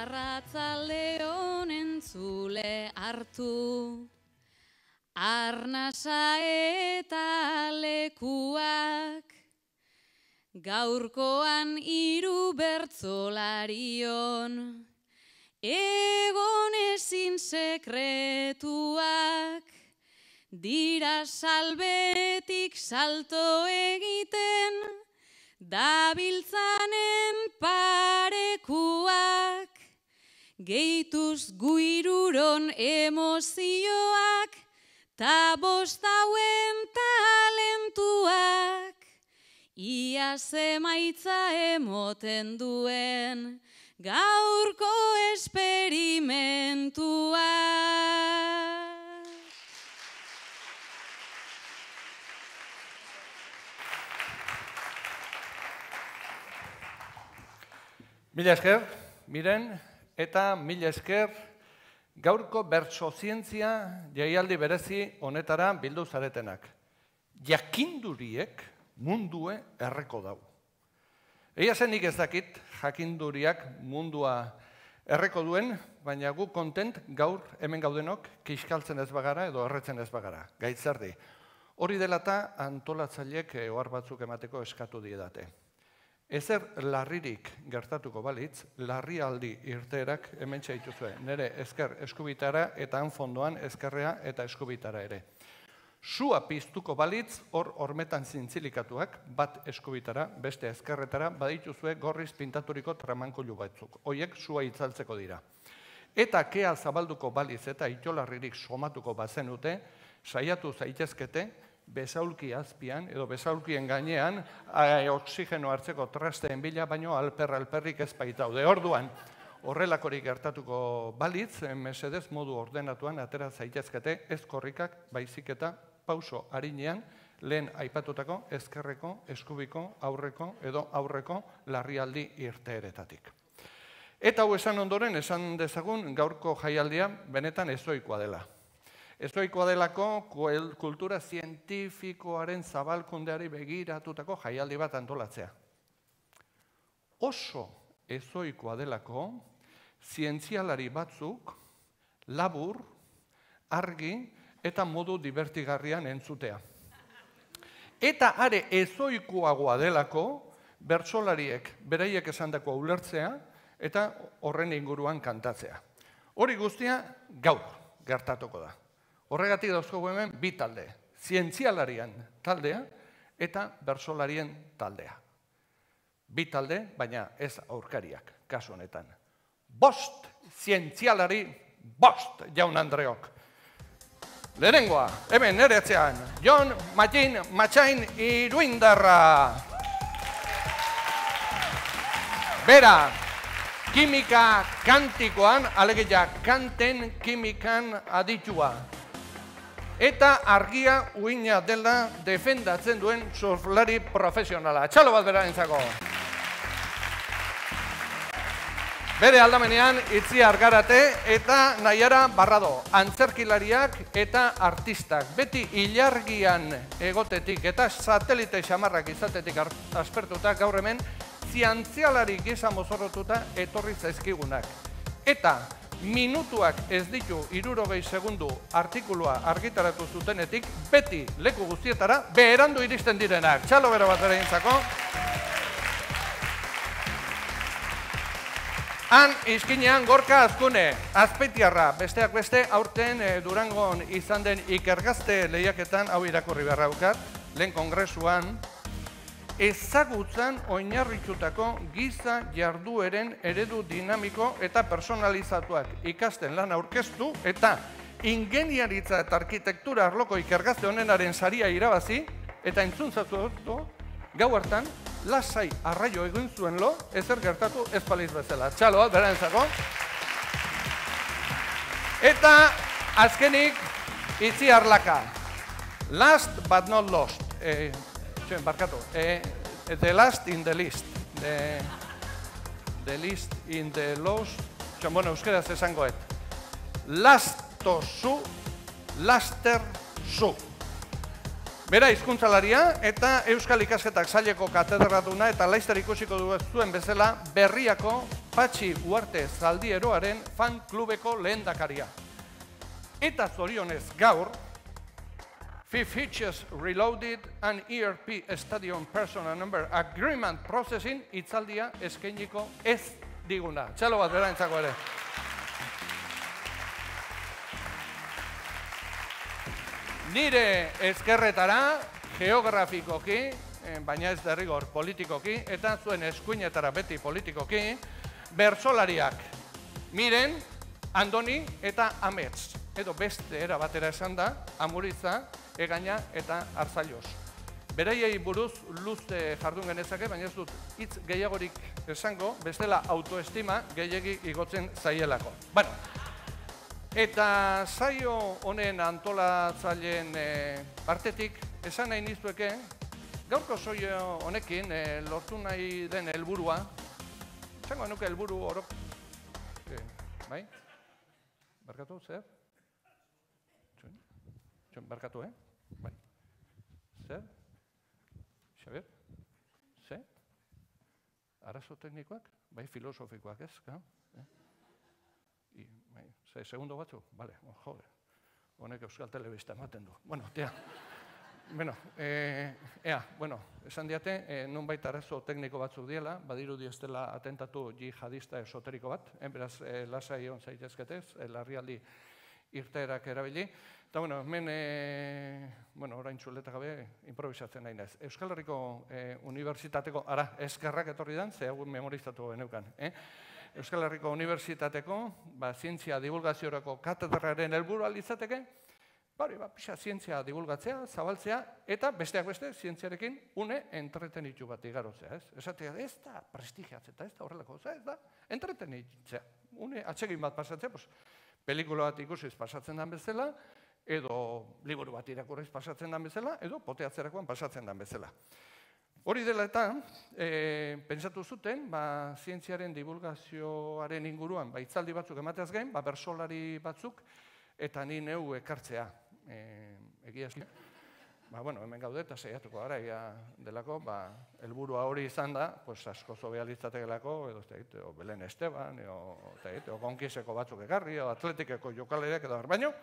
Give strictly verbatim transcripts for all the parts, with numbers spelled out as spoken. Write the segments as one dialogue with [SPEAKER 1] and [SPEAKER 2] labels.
[SPEAKER 1] Arratzalde honen zule hartu, arnasa eta lekuak, gaurkoan hiru bertsolarion, egon ezin sekretuak, dira salbetik salto egiten, dabiltzanen parekuak, gehituz guiruron emozioak, ta bostauen talentuak, ia zemaitza emoten duen, gaurko esperimentua.
[SPEAKER 2] Mila esker, Miren, eta mila esker gaurko bertsozientzia jaialdi berezi honetara bildu zaretenak. Jakinduriek mundue erreko dau. Egia zenik ez dakit jakinduriak mundua erreko duen, baina gu kontent gaur hemen gaudenok kiskaltzen ez bagara edo erretzen ez bagara. Gaitzerdi. Hori dela eta antolatzaileek ohar batzuk emateko eskatu diedate. Ezer larririk gertatuko balitz, larrialdi irteerak hemen txaituzue. Nere ezker eskubitara eta hanfondoan ezkerrea eta eskubitara ere. Sua piztuko balitz, hor hormetan zintzilikatuak, bat eskubitara, beste ezkerretara, badituzue gorriz pintaturiko tramankulu batzuk. Hoiek sua itzaltzeko dira. Eta kea zabalduko balitz eta itolarririk somatuko bazenute, saiatu zaitezkete, besaulki azpian, edo besaulkien gainean, oksigeno hartzeko trasteen bila, baino alper-alperrik ez baitaude. Orduan, horrelakorik gertatuko balitz, mesedez modu ordenatuan atera zaitezkete, ez korrikak, baizik eta pauso harinean, lehen aipatutako ezkerreko, eskubiko, aurreko edo aurreko larrialdi irteeretatik. Eta hau esan ondoren, esan dezagun gaurko jaialdia benetan ezoikoa dela. Ezoikoa delako kultura zientifikoaren zabalkundeari begiratutako jaialdi bat antolatzea. Oso ezoikoa delako zientzialari batzuk labur, argi eta modu divertigarrian entzutea. Eta are ezoikoagoa delako bertsolariek beraiek esandako ulertzea eta horren inguruan kantatzea. Hori guztia gaur gertatuko da. Horregatik dauzkogu hemen bi talde, zientzialarian taldea eta bertsolarien taldea. Bi talde, baina ez aurkariak, kasu honetan. Bost zientzialari, bost jaun Andreok. Lehenengoa, hemen nere etxean, Jon Mattin Matxain Iruindarra. Bera, kimika kantikoan, alegia kanten kimikan aditua. Eta argia uina dela defendatzen duen surflari profesionala. Txalo bat bera entzako. Bere aldamenean itzi argarate eta nahiara barrado. Antzerkilariak eta artistak. Beti ilargian egotetik eta satelite xamarrak izatetik aspertuta gaur hemen zientzialari gisa mozorrotuta etorri zaizkigunak. Eta minutuak ez ditu hirurogei segundu artikulua argitaratu zutenetik, beti leku guztietara beherandu iristen direnak. Txalo bero bat bere intzako. Han izkinean Gorka Azkune, Azpeitiarra, besteak beste aurten Durangon izan den ikergazte lehiaketan, hau irakurri beharra daukat, lehen kongresuan, ezagutzan oinarritutako giza jardueren eredu dinamiko eta personalizatuak ikasten lan aurkeztu eta ingeniaritza eta arkitektura arloko ikergazte honenaren saria irabazi eta entzuntzatu gau hartan lasai arraio egin zuen lo ezer gertatu ez baliz bezala. Txaloa, berantzako. Eta azkenik itzi arlaka. Last but not lost. Barkatu, the last in the list, the list in the lost, bueno, euskeraz esangoet, lasto zu, laster zu. Bera hizkuntzalaria eta Euskal Ikasketak Saileko katedraduna eta laizter ikusiko duen bezala Berriako Patxi Uarte Zaldieroaren fan klubeko lehendakaria. Eta zorionez gaur, Fifth Hitches Reloaded and E R P Stadium Personal Number Agreement Processing itzaldia eskainiko ez diguna. Txalo bat berantzako ere. Nire ezkerretara, geografikoki, baina ez derrigor politikoki, eta zuen eskuinetara beti politikoki, bertsolariak Miren, Andoni eta Amets. Edo beste era batera esan da, Amuritza, Egaña eta Arzaios. Beraiei buruz luze jardun genezake, baina ez dut hitz gehiagorik esango, bestela autoestima gehiegi igotzen zaielako. Bueno, eta saio honen antolatzaileen partetik esan nahi nizueke, gaurko saio honekin lortu nahi den helburua, esango nuke helburu orok, bai? Barkatu, zer? Txon, barkatu, eh? Bai. Zer? Xabier? Zer? Arazo teknikoak? Bai, filosofikoak, ez? Zer, segundo batzu? Bale, jode. Honek Euskal Telebista ematen du. Bueno, tia. Bueno, ea, bueno, esan diate, nonbait arazo tekniko batzuk diela, badirudi ez dela atentatu jihadista esoteriko bat, beraz, lasai hon zaitezketez, larrialdi irteerak erabili. Eta, bueno, hemen, bueno, orain txuleta gabe, improvisatzen nahi naiz. Euskal Herriko Unibertsitateko, ara, eskerrak etorri dan, ze hau memorizatu geneukan. Euskal Herriko Unibertsitateko, zientzia divulgaziorako katedraren helburua litzateke, bari, pixa, zientzia divulgatzea, zabaltzea, eta besteak beste, zientziarekin une entretenitu bat igarotzea, ez? Esatea, ez da prestigiatzea, ez da horrelako, ez da entretenitzea. Une atsegin bat pasatzea, pelikula bat ikusiz pasatzen den bezala, edo liburu bat irakurriz pasatzen den bezala, edo poteatzerakoan pasatzen den bezala. Hori dela eta, pentsatu zuten, zientziaren divulgazioaren inguruan, hitzaldi batzuk emateaz gain, bersolari batzuk, eta ni neu ekartzea. Egia eski. Bueno, hemen gaude eta saiatuko gara, delako, helburua hori izan da, asko zobea litzategelako, edo Belen Esteban, edo Gonkiseko batzuk ekarri, edo Atletikeko jokalereak edo baino,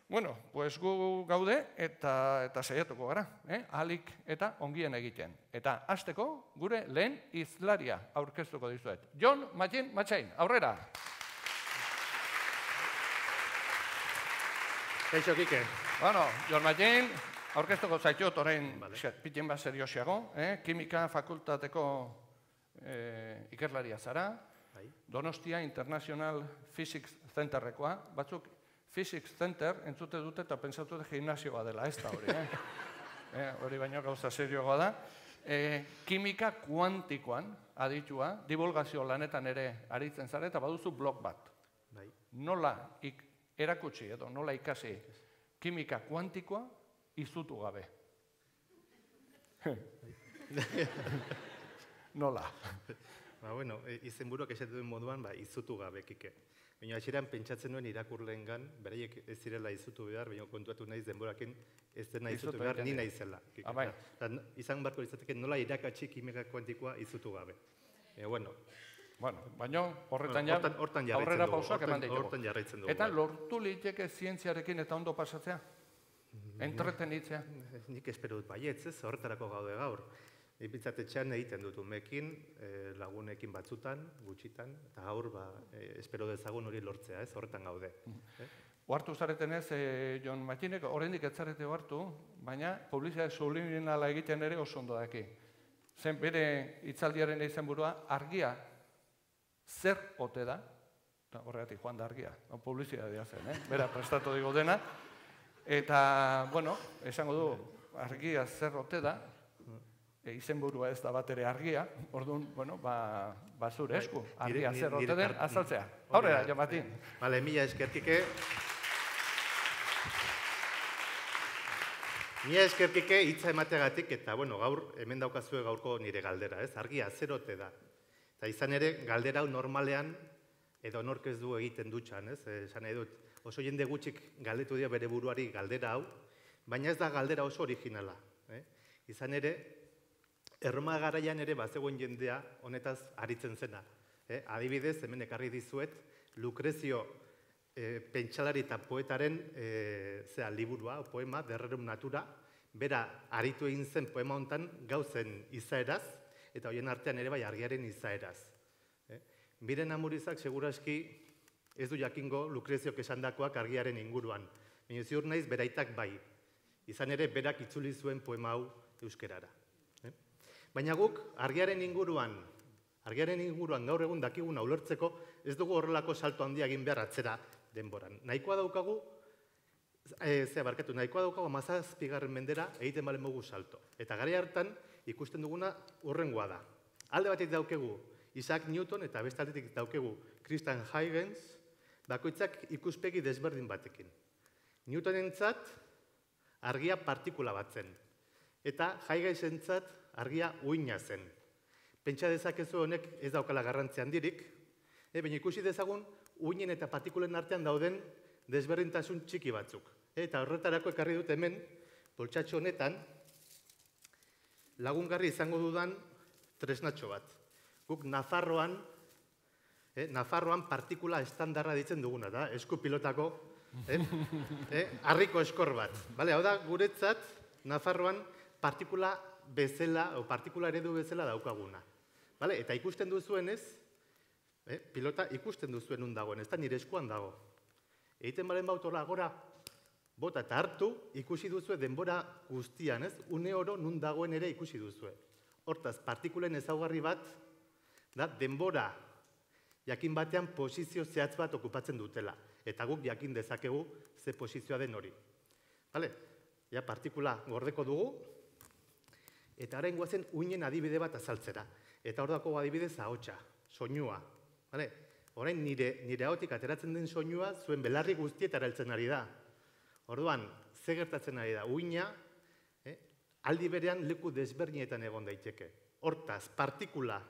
[SPEAKER 2] bueno, pues gu gaude eta saiatuko gara, ahalik eta ongien egiten. Eta hasteko gure lehen hizlaria aurkeztuko dizuet. Jon Mattin Matxain, aurrera!
[SPEAKER 3] Kaixo, Kike.
[SPEAKER 2] Bueno, Jon Mattin, aurkeztuko zaitut orain pitin bat seriosiago, Kimika Fakultateko ikerlaria zara, Donostia International Physics Centerrekoa, batzuk Physics Center entzute dute eta pentsatu dut gimnasioa dela, ez da hori. Hori baino gauza serioa da. Kimika kuantikoan aditua, divulgazio lanetan ere aritzen zara eta baduzu blog bat. Nola erakutsi edo nola ikasi kimika kuantikoa izutu gabe. Nola?
[SPEAKER 3] Ba, bueno, izenburuak esatu duen moduan, izutu gabe, Kike. Baina atxeran pentsatzen duen irakurleengan, beraiek ez zirela izutu behar, baina kontuatu naiz denborakin ez dena izutu behar, ni naizela. Izan barko izateke nola irakatsi kimika kuantikoa izutu gabe. Bueno,
[SPEAKER 2] Bueno, baina horretan aurrera pausak eman ditugu. Eta lortu liteke zientziarekin eta ondo pasatzea? Entretenitzea?
[SPEAKER 3] Nik espero dut baietz, ez, horretarako gaude gaur. Ipitzatetxean egiten dut umekin, lagunekin batzutan, gutxitan, eta gaur espero dezagun hori lortzea, ez, horretan gaude.
[SPEAKER 2] Oartu zaretenez, Jon Mattinek, oraindik ez zarete oartu, baina publizitate subliminala egiten ere oso ondo daki. Zen bere hitzaldiaren izenburua argia zer ote da, horregatik joan da argia, publizitatea zen, bera prestatu digo dena, eta, bueno, esango du, argia zer ote da, izenburua ez da bat ere argia, orduan, bueno, ba zure esku, argia zer ote den azaltzea. Aurrera, Jon Mattin.
[SPEAKER 3] Bale, mila eskertike. Mila eskertike hitza emateagatik, eta, bueno, gaur, hemen daukazue gaurko nire galdera, ez? Argia zer ote da. Eta izan ere, galdera hau normalean, edo nork ez du egiten dutxan, ez? Esan nahi dut, oso jende gutxik galdetu dira bere buruari galdera hau, baina ez da galdera oso originala. Izan ere, Erroma garaian ere bazegoen jendea honetaz aritzen zena. adibidez, hemen ekarri dizuet, Lucrezio pentsalari eta poetaren zera, liburua, poema, derrerum natura, bera aritu egin zen poema hontan gauzen izaeraz, eta horien artean ere bai argiaren izaeraz. Miren Amurizak seguraski ez du jakingo Lucreziok esandakoak argiaren inguruan, baina ziur naiz beraitak bai, izan ere berak itzuli zuen poema hau euskerara. Baina guk argiaren inguruan, argiaren inguruan gaur egun dakiguna ulertzeko ez dugu horrelako salto handia egin behar atzera denboran. Nahikoa daukagu, zera barkatu, nahikoa daukagu hamazazpigarren mendera egiten balen mogu salto. Eta gara hartan ikusten duguna urrengoa da. Alde batetik daukegu Isaac Newton eta beste aldetik daukegu Christian Huygens, bakoitzak ikuspegi desberdin batekin. Newtonentzat argia partikula bat zen, eta Huygensentzat argia uina zen. Pentsa dezakezu honek ez daukala garrantzi handirik, baina ikusi dezagun uinen eta partikulen artean dauden desberdintasun txiki batzuk. Eta horretarako ekarri dut hemen, poltsatxo honetan, lagungarri izango dudan tresnatxo bat. Guk Nafarroan, Nafarroan partikula estandarra ditzen duguna, da, esku pilotako, harriko eskor bat. Hau da, guretzat, Nafarroan partikula bezala, o partikula eredu bezala daukaguna. Eta ikusten duzuenez, pilota ikusten duzuen nun dagoen, ez da nire eskuan dago. Egiten balen bautola gora, bota eta hartu, ikusi duzue denbora guztian, ez? Une oro nun dagoen ere ikusi duzue. Hortaz, partikulen ezaugarri bat, da denbora jakin batean posizio zehatz bat okupatzen dutela. Eta guk jakin dezakegu ze posizioa den hori. Ja, partikula gordeko dugu, eta harain guazen uinen adibide bat azaltzera. Eta hor dako adibidez ahotsa, soinua. Orain nire ahotik ateratzen den soinua zuen belarri guztietara heltzen ari da. Orduan, ze gertatzen ari da? Uina aldi berean leku desberdinetan egon daiteke. Hortaz, partikula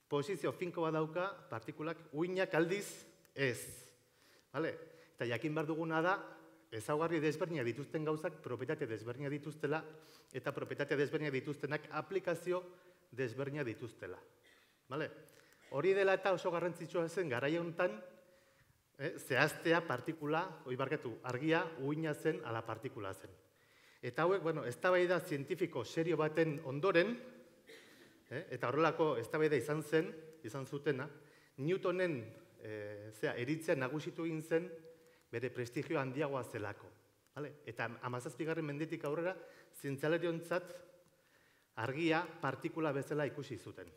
[SPEAKER 3] posizio finko bat dauka, partikulak uinak aldiz ez. Eta jakin behar duguna da, ezaugarri desberdinak dituzten gauzak propietate desberdinak dituztela, eta propietate desberdinak dituztenak aplikazio desberdinak dituztela. Hori dela eta oso garrantzitsua zen garaia honetan, zehaztea partikula, hori barkatu, argia uina zen ala partikula zen. Eta hauek, bueno, eztabaida zientifiko serio baten ondoren, eta horrelako eztabaida izan zen, izan zutena, Newtonen eritzea nagusitu egin zen bere prestigio handiagoa zelako. Eta hamazazpigarren mendetik aurrera, zientzialariontzat argia partikula bezala ikusi zuten.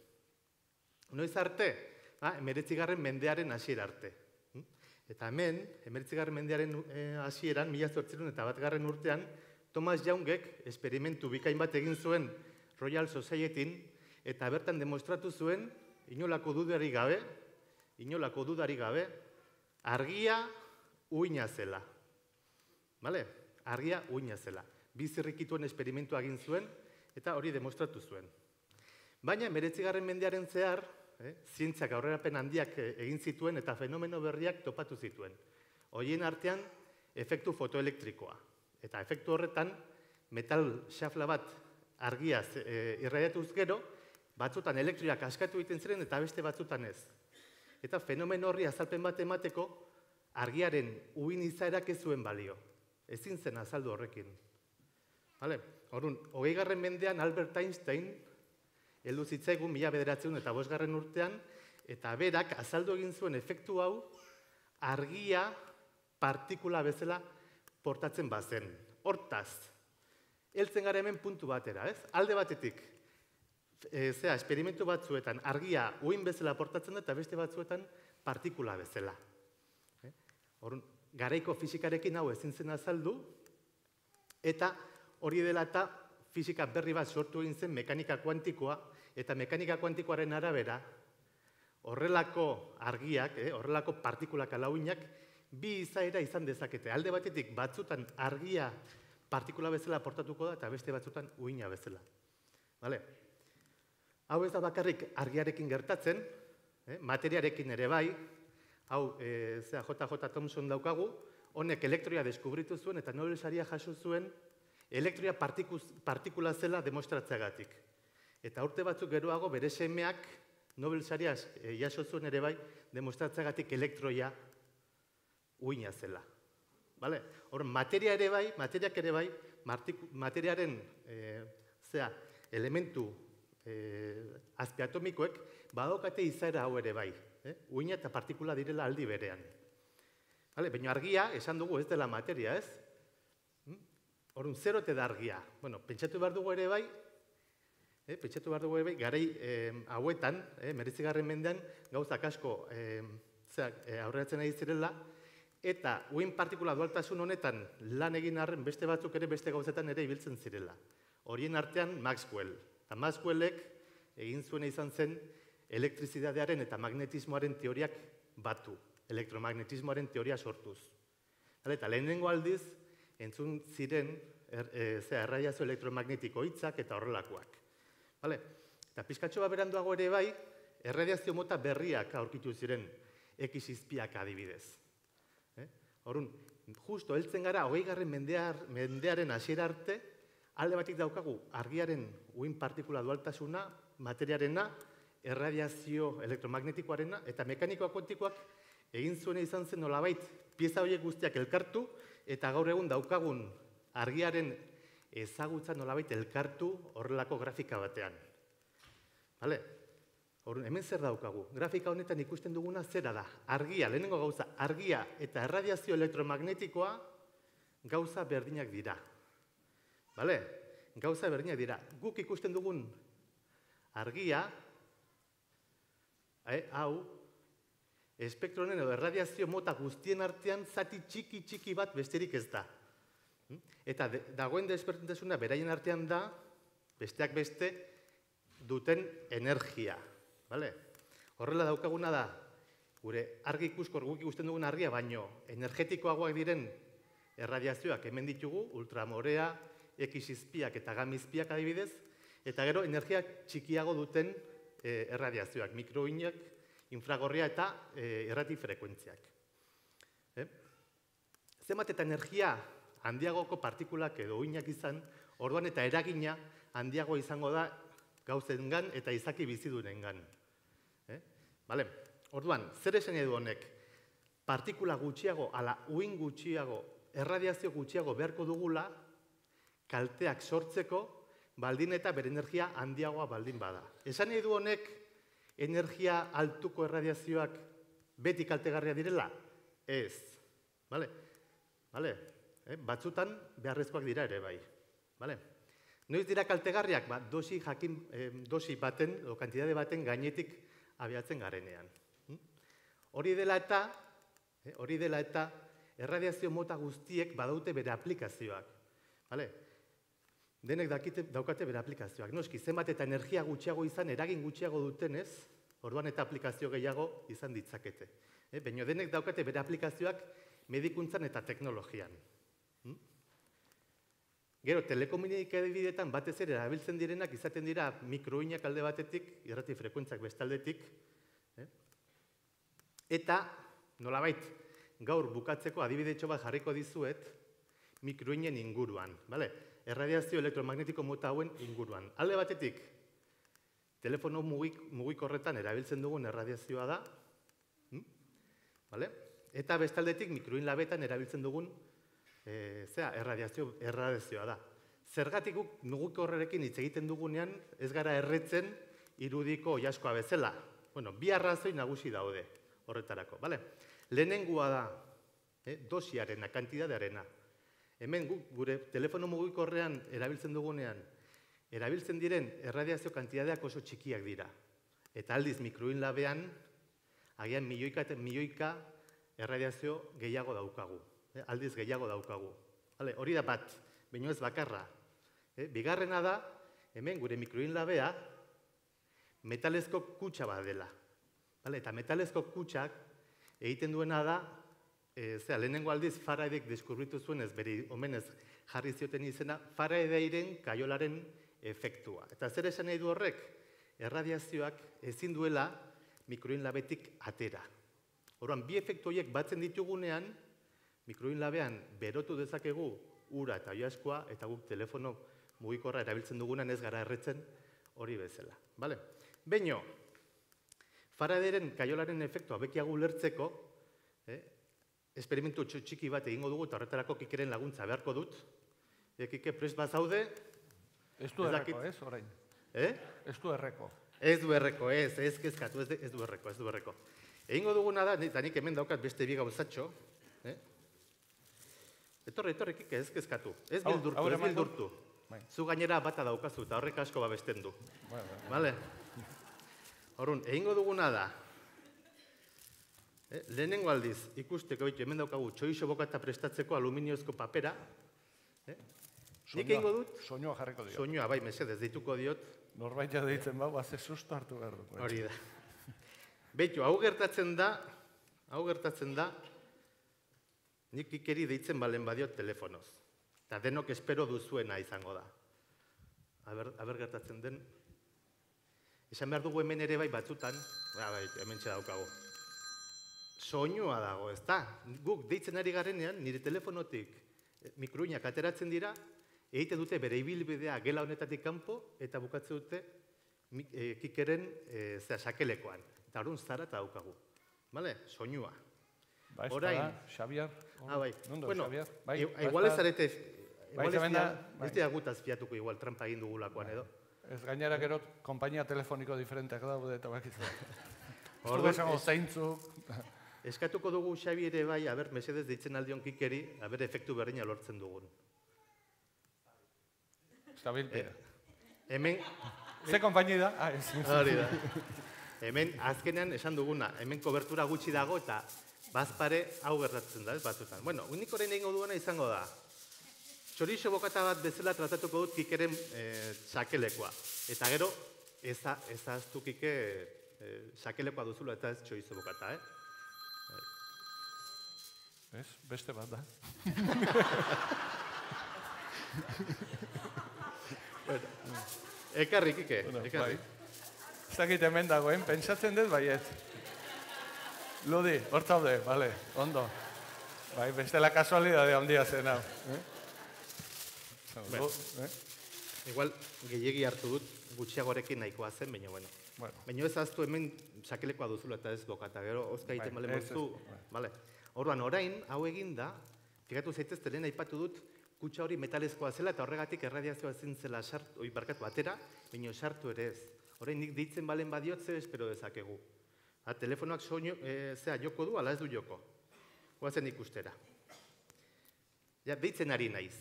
[SPEAKER 3] Noiz arte, hemeretzigarren mendearen hasiera arte. Eta hemen, hemeretzigarren mendearen hasieran, mila zortziehun eta batgarren urtean, Thomas Youngek esperimentu bikain bat egin zuen Royal Societyn, eta bertan demostratu zuen, inolako dudari gabe, inolako dudari gabe, argia uina zela. Argia uina zela. Bizirrikituen esperimentua egin zuen, eta hori demostratu zuen. Baina, hemeretzigarren mendearen zehar, zientziak aurrerapen handiak egin zituen eta fenomeno berriak topatu zituen. Horien artean, efektu fotoelektrikoa. Eta efektu horretan, metal xafla bat argiaz irradiatuz gero, batzutan elektrioak askatu egiten ziren eta beste batzutan ez. Eta fenomeno horri azalpen bat emateko, argiaren uin izaerak ez zuen balio. Ezin zen azaldu horrekin. Horun, hogeigarren mendean Albert Einstein, heldu zitzaigun mila bederatziehun eta bosgarren urtean, eta berak azaldu egin zuen efektu hau argia partikula bezala portatzen bazen. Hortaz, heltzen gara hemen puntu batera, ez? Alde batetik, zera, esperimentu batzuetan argia uin bezala portatzen da eta beste batzuetan partikula bezala. Horun, garaiko fisikarekin hau ezin zen azaldu, eta hori dela eta fisika berri bat sortu egin zen mekanika kuantikoa, eta mekanika kuantikoaren arabera, horrelako argiak, horrelako partikulak ala uinak, bi izaera izan dezakete. Alde batetik batzutan argia partikula bezala portatuko da, eta beste batzutan uina bezala. Hau ez da bakarrik argiarekin gertatzen, materiarekin ere bai, hau J J Thomson daukagu, honek elektroia deskubritu zuen eta Nobel saria jaso zuen elektroia partikula zela demostratzeagatik. Eta urte batzuk geroago bere semeak Nobel saria e, jaso zuen ere bai, demostratzeagatik elektroia uina zela. Vale? Hor, materia ere bai, materiak ere bai, materiaren e, zera, elementu e, azpiatomikoek badokate izaera hau ere bai. Eh? Uina eta partikula direla aldi berean. Vale? Baina argia, esan dugu ez dela materia, ez? Horun, zer ote da argia? Bueno, pentsatu behar dugu ere bai, eh, pentsatu behar dugu ere bai, garai eh, hauetan, eh, meretzigarren mendean, gauzak asko eh, zeak, eh, aurreratzen ari zirela, eta uin partikula dualtasun honetan lan egin arren beste batzuk ere beste gauzetan ere ibiltzen zirela. Horien artean Maxwell. Eta Maxwellek egin zuena izan zen elektrizidadearen eta magnetismoaren teoriak batu. Elektromagnetismoaren teoria sortuz. Eta lehenengo aldiz, entzun ziren er, e, ze, erradiazio elektromagnetiko hitzak eta horrelakoak. Vale? Eta pizkatxo bat beranduago ere bai, erradiazio mota berriak aurkitu ziren X izpiak adibidez. Eh? Horun, justo heltzen gara, hogeigarren mendear, mendearen hasiera arte, alde batik daukagu argiaren uhin partikula dualtasuna, materiarena, erradiazio elektromagnetikoarena, eta mekanikoa kuantikoak egin zuena izan zen nolabait pieza horiek guztiak elkartu, eta gaur egun daukagun argiaren ezagutza nolabait elkartu horrelako grafika batean. Vale? Horren, hemen zer daukagu? Grafika honetan ikusten duguna zera da. Argia, lehenengo gauza, argia eta erradiazio elektromagnetikoa gauza berdinak dira. Vale? Gauza berdinak dira. Guk ikusten dugun argia, eh, hau, espektronen edo erradiazio mota guztien artean zati txiki txiki bat besterik ez da. Eta de, dagoen desberdintasuna beraien artean da, besteak beste, duten energia. Vale? Horrela daukaguna da, gure argi ikuskor guk ikusten dugun argia, baino energetikoagoak diren erradiazioak hemen ditugu, ultramorea, X izpiak eta gamma izpiak adibidez, eta gero energia txikiago duten eh, erradiazioak, mikroinak, infragorria eta e, errati frekuentziak. Eh? Zenbat eta energia handiagoko partikulak edo uinak izan, orduan eta eragina handiago izango da gauzengan eta izaki bizidunengan. Eh? Vale? Orduan, zer esan edu honek? Partikula gutxiago, ala uin gutxiago, erradiazio gutxiago beharko dugula, kalteak sortzeko, baldin eta bere energia handiagoa baldin bada. Esan edu honek, energia altuko erradiazioak beti kaltegarria direla? Ez. Vale? Vale? Eh? Batzutan beharrezkoak dira ere bai. Vale? Noiz dira kaltegarriak? Ba, dosi, jakin, eh, dosi baten, o kantitate baten gainetik abiatzen garenean. Hm? Hori dela eta, eh, hori dela eta erradiazio mota guztiek badaute bere aplikazioak. Vale? Denek dakite, daukate bere aplikazioak. Noski, zenbat eta energia gutxiago izan, eragin gutxiago dutenez, orduan eta aplikazio gehiago izan ditzakete. Eh? Baina denek daukate bere aplikazioak medikuntzan eta teknologian. Hm? Gero, telekomunikabideetan batez ere erabiltzen direnak izaten dira mikroinak alde batetik, irrati frekuentziak bestaldetik. Eh? Eta, nolabait, gaur bukatzeko adibidetxo bat jarriko dizuet, mikroinen inguruan. Vale? Erradiazio elektromagnetiko mota hauen inguruan. Alde batetik, telefono mugik, mugikorretan erabiltzen dugun erradiazioa da. Hm? Vale? Eta bestaldetik mikroin labetan erabiltzen dugun e, zera, erradiazio, erradiazioa da. Zergatik guk mugikorrerekin hitz egiten dugunean ez gara erretzen irudiko oilaskoa bezala. Bueno, bi arrazoi nagusi daude horretarako. Vale? Lehenengua da eh, dosiarena, kantidadearena. Hemen gure telefono mugikorrean erabiltzen dugunean, erabiltzen diren erradiazio kantitateak oso txikiak dira. Eta aldiz mikroin labean, agian milioika eta milioika erradiazio gehiago daukagu. Eh? Aldiz gehiago daukagu. Vale, hori da bat, baino ez bakarra. Eh? Bigarrena da, hemen gure mikroin labea metalezko kutsa bat dela. Vale, eta metalezko kutsak egiten duena da, E, zera, lehenengo aldiz Faradayek deskubritu zuen ez beri omenez jarri zioten izena Faradayren kaiolaren efektua. Eta zer esan nahi du horrek? Erradiazioak ezin duela mikroin labetik atera. Orduan, bi efektu horiek batzen ditugunean, mikroin labean berotu dezakegu ura eta oilaskoa eta guk telefono mugikorra erabiltzen dugunan ez gara erretzen hori bezala. Vale? Beino, Faraderen kaiolaren efektua bekiago ulertzeko, esperimentu txiki bat egingo dugu, eta horretarako Kikeren laguntza beharko dut. Kike, prest bat zaude?
[SPEAKER 2] Ez du erreko, ez, orain?
[SPEAKER 3] Eh?
[SPEAKER 2] Ez du erreko.
[SPEAKER 3] Ez du erreko, ez, ez kezkatu, ez du erreko, ez du erreko. Egingo duguna da, eta nik hemen daukat beste bi gauzatxo. Etorre, etorre, Kike, ez kezkatu. Ez bildurtu, ez bildurtu. Zu gainera bata daukazu, eta horrek asko babesten du. Bale? Horrun, egingo duguna da, lehenengo aldiz, ikusteko, hemen daukagu, txoixo bokata prestatzeko aluminiozko papera. Nik egingo dut?
[SPEAKER 2] Soinua jarriko diot.
[SPEAKER 3] Soinua, bai, mesedez, deituko diot.
[SPEAKER 2] Norbait ja deitzen bau, haze susto hartu behar dut.
[SPEAKER 3] Hori da. Beitu, hau gertatzen da, hau gertatzen da, nik Kikeri deitzen balen badiot telefonoz. Eta denok espero duzuena izango da. Aber gertatzen den. Esan behar dugu hemen ere bai batzutan, hemen txeda daukago. Soinua dago, ez da? Guk deitzen ari garenean, nire telefonotik mikroinak ateratzen dira, egite dute bere ibilbidea gela honetatik kanpo, eta bukatze dute Kikeren sakelekoan. Eta horren zara eta daukagu. Bale? Soinua.
[SPEAKER 2] Ba, ez da, Xabiar.
[SPEAKER 3] Ah, bai.
[SPEAKER 2] Nondo,
[SPEAKER 3] bueno,
[SPEAKER 2] Xabiar?
[SPEAKER 3] igual ez zarete, igual ez dira gutaz fiatuko igual trampa egin dugulakoan edo.
[SPEAKER 2] Ez gainera gero, kompainia telefoniko diferenteak daude eta bakizu. Ordu esango zeintzuk.
[SPEAKER 3] Eskatuko dugu Xabi ere bai, aber, mesedez deitzen aldion Kikeri, aber, efektu berdina lortzen dugun.
[SPEAKER 2] Stabilpide.
[SPEAKER 3] Hemen...
[SPEAKER 2] Ze kompaini da?
[SPEAKER 3] Hori da. Hemen, azkenean esan duguna, hemen kobertura gutxi dago eta bazpare hau gertatzen da, ez batzutan. Bueno, unik orain egingo duena izango da. Txorixo bokata bat bezala tratatuko dut Kikeren sakelekoa. Eta gero, ezaztu Kike sakelekoa duzula eta ez txorizo bokata, eh?
[SPEAKER 2] Ez, beste bat da.
[SPEAKER 3] Ekarri, Kike, ekarri.
[SPEAKER 2] Ez dakit hemen dagoen, pentsatzen dut baiet. Ludi, hor zaude, bale, ondo. Bai, bestela kasualidade handia zen hau.
[SPEAKER 3] Igual, gehiegi hartu dut, gutxiagorekin nahikoa zen, baina, bueno. Baina ez aztu hemen sakelekoa duzula eta ez bokata, gero, ozka egiten bale moztu, bale. Orduan, orain, hau egin da, fikatu zaitezte lehen aipatu dut, kutsa hori metalezkoa zela eta horregatik erradiazioa zintzela sartu, oi, barkatu, atera, baina sartu ere ez. Orain, nik deitzen balen badiotze espero dezakegu. Ha, telefonoak soinu, zera, joko du, ala ez du joko. Goazen ikustera. Ja, deitzen ari naiz.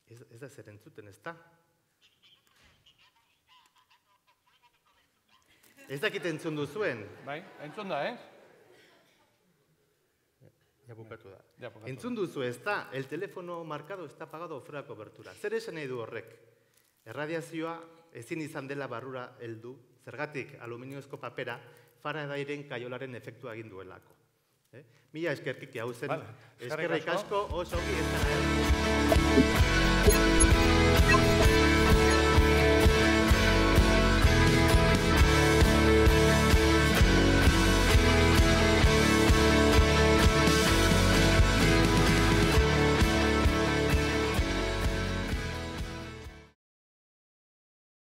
[SPEAKER 3] Ez da zer entzuten, ez da? Ez dakit entzun duzuen.
[SPEAKER 2] Bai, entzun da, eh?
[SPEAKER 3] Ja bukatu da. Entzun duzu, ez da, el telefono markado está apagado fuera de cobertura. Zer esan nahi du horrek? Erradiazioa ezin izan dela barrura heldu, zergatik aluminiozko papera Faradairen kaiolaren efektua egin duelako. Mila eskerkiki hau zen, eskerrik asko, oso ongi ez